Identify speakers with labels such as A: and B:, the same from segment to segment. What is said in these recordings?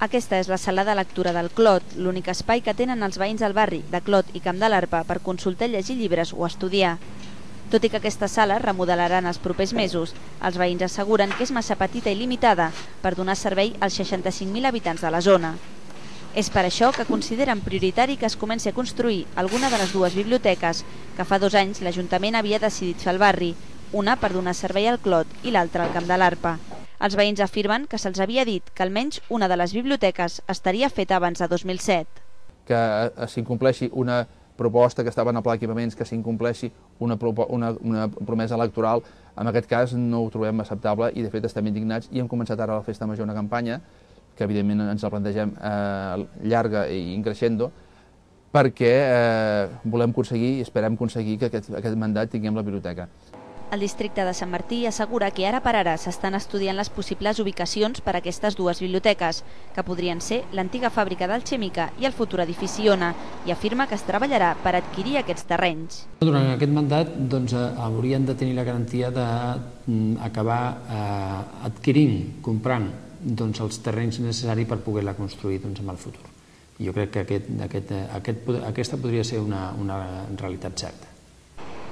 A: Aquesta és la sala de lectura del Clot, l'únic espai que tenen els veïns del barri de Clot i Camp de l'Arpa per consultar, llegir llibres o estudiar. Tot i que aquesta sala remodelaran els propers mesos, els veïns asseguren que és massa petita i limitada per donar servei als 65.000 habitants de la zona. És per això que consideren prioritari que es comenci a construir alguna de les dues biblioteques que fa 2 anys l'Ajuntament havia decidit fer al barri, una per donar servei al Clot i l'altra al Camp de l'Arpa. Els veïns afirmen que se'ls havia dit que almenys una de les biblioteques estaria feta abans de 2007.
B: Que s'incompleixi una proposta que estava en el pla d'equipaments, que s'incompleixi una promesa electoral, en aquest cas no ho trobem acceptable i de fet estem indignats i hem començat ara a la Festa Major una campanya que evidentment ens la plantegem llarga i creixendo, perquè volem aconseguir i esperem aconseguir que aquest mandat tinguem la biblioteca.
A: El districte de Sant Martí assegura que ara per ara s'estan estudiant les possibles ubicacions per a aquestes dues biblioteques, que podrien ser l'antiga fàbrica d'Alchèmica i el futur edifici Ona, i afirma que es treballarà per adquirir aquests terrenys.
C: Durant aquest mandat haurien de tenir la garantia d'acabar adquirint, comprant els terrenys necessaris per poder-la construir en el futur. Jo crec que aquesta podria ser una realitat certa.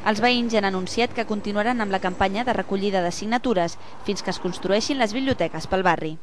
A: Els veïns ja han anunciat que continuaran amb la campanya de recollida de signatures fins que es construeixin les biblioteques pel barri.